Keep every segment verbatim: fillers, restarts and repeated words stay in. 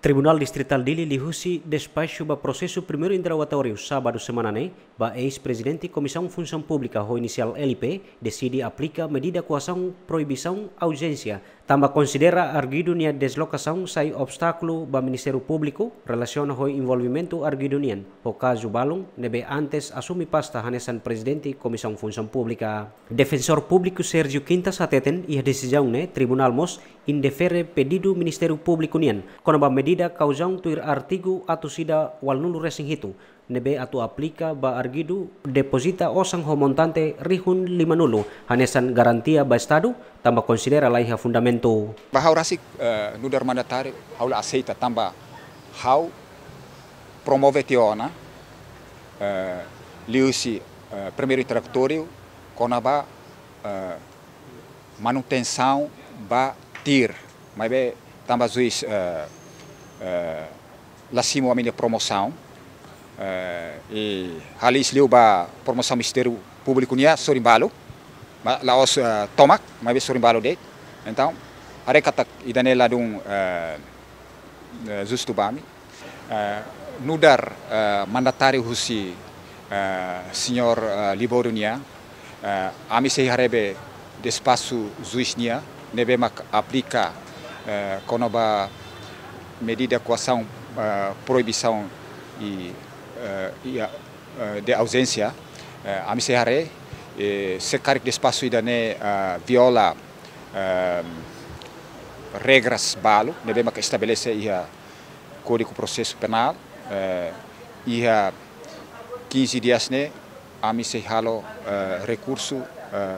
Tribunál Distritál Dili liuhusi despaxu ba prosesu primeiru interrogatóriu sábadu semana ne'e ba eis-prezidente Komisaun Funsaun Públika ho inisiál L P deside aplika medida koasaun proibisaun auzénsia, tanba konsidera arguidu nia deslokasaun sai obstákulu ba Ministériu Públiku relasiona ho envolvimentu arguidu nian ho kazu balun ne'ebé antes asume pasta hanesan prezidente Komisaun Funsaun Públika. Defensór Públiku Sérgio Quintas hateten iha desizaun ne'e tribunál mós indefere pedidu Ministériu Públiku nian kona-ba medida kauzaun tuir artigu atus ida ualunulu-resin-hitu ne'ebé atu aplika ba arguidu depozita osan ho montante rihun limanulu hanesan garantia ba Estadu, tanba konsidera laiha fundamentu. Ba ha'u rasik, eh, nu'udar mandatáriu, ha'u la aseita tanba ha'u promove tiha ona, eh, liuhusi, eh, primeiru interrogatóriu kona-ba, eh, manutensaun ba TIR. Maibé tanba juís, eh, eh, la simu ami-nia promosaun, eh, i ha'u haliis liu ba promosaun Ministériu Públiku nian sorin balu, ma la'ós, eh, tomak, maibé sorin balu de'it. Entaun, haree katak ida-ne'e ladún, eh, eh, justu ba ami. Eh, nu'udar, eh, mandatáriu husi, eh, señór, eh, Libório nian, eh, ami sei haree be despaxu juís nian ne'ebé mak aplika, eh, kona-ba medida koasaun, eh, proibisaun i, eh, i, eh, de auzénsia, eh, ami sei haree, eh, se karik despaxu ida-ne'e, eh, viola, eh, regras balu ne'ebé mak estabelese iha Kódigu Prosesu Penál, eh, iha quinze dias ne'e ami sei halo, eh, rekursu, eh,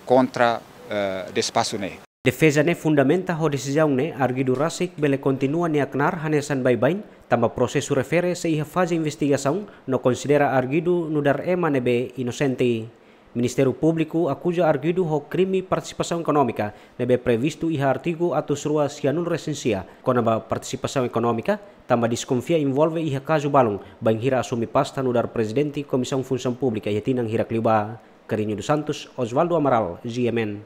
kontra, eh, despaxu ne'e. Defeza ne'e fundamenta ho desizaun ne'e arguidu rasik bele kontinua nia knaar hanesan baibain, tanba prosesu refere sei iha faze investigasaun no konsidera arguidu nu'udar ema ne'ebé inosente. Ministériu Públiku akuza arguidu ho krime partisipasaun ekonómika ne'ebé previstu iha artigu atus rua sianulu-resin-sia kona-ba partisipasaun ekonómika, tanba deskonfia envolve iha kazu balun bainhira asume pasta nu'udar prezidente Komisaun Funsaun Públika iha tinan hirak liubá. Carrinho dos Santos, Osvaldo Amaral, G M N.